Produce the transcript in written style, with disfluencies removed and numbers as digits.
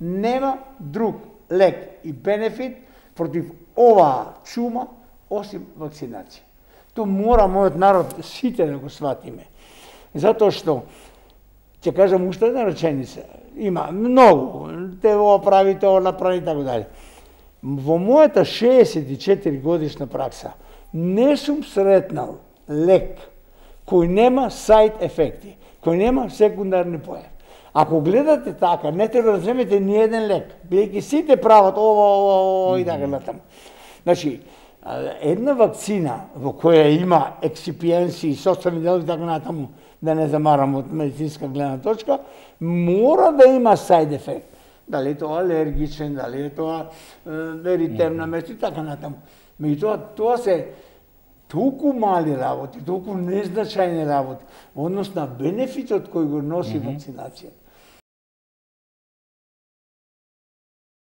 Нема друг лек и бенефит против оваа чума осим вакцинација. Тоа мора мојот народ сите да го сватиме. Затоа што ќе кажам уште една реченица. Има многу, те ова прави, тоа направи така дали. Во мојата 64 годишна пракса не сум сретнал лек кој нема сайд ефекти, кој нема секундарни појави. Ако гледате така, не треба да земете ни еден лек, бидејќи сите прават ова и така натаму. Значи, една вакцина во која има ексипиенси, составни делови и така натаму, да не замарам од медицинска гледна точка, мора да има сайд ефект. Дали е тоа алергичен, дали е тоа еритемна место и така натаму. Меѓутоа, тоа се толку мали работи, толку незначајни работи, однос на бенефитот кој го носи вакцинацијата.